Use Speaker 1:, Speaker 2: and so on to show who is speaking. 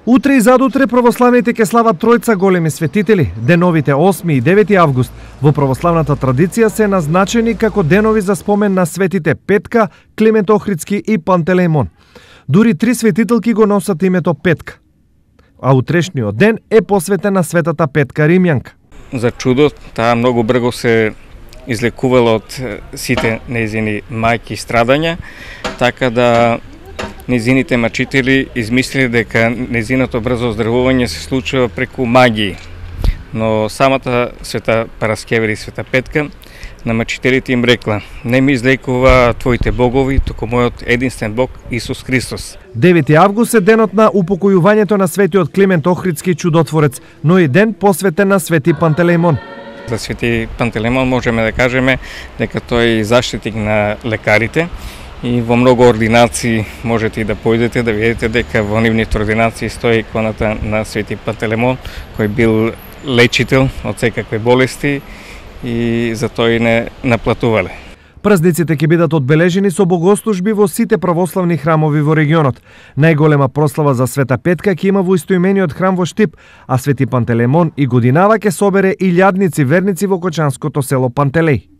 Speaker 1: Утре и задутре православните ќе слават тројца големи светители. Деновите 8 и 9 август во православната традиција се назначени како денови за спомен на светите Петка, Климент Охридски и Пантелеимон. Дури 3 светителки го носат името Петка. А утрешниот ден е посветен на светата Петка Римјанка.
Speaker 2: За чудо, таа многу брзо се излекувала од сите нејзини мајки страдања, така да нејзините мачители измислили дека нејзиното брзо оздравување се случува преку магии. Но самата света Параскевир и света Петка на мачителите им рекла: не ми излекува твоите богови, туку мојот единствен Бог Исус Христос.
Speaker 1: 9 август е денот на упокојувањето на светиот Климент Охридски чудотворец, но и ден посветен на свети Пантелеимон.
Speaker 2: За свети Пантелеимон можеме да кажеме дека тој е заштитник на лекарите. И во многу ординации можете и да појдете да видите дека во нивните ординации стои иконата на свети Пантелеимон, кој бил лечител од секакви болести и за тој не наплатувале.
Speaker 1: Празниците ќе бидат одбележени со богослужби во сите православни храмови во регионот. Најголема прослава за света Петка ќе има во истоимениот храм во Штип, а свети Пантелеимон и годинава ќе собере илјадници верници во кочанското село Пантелеј.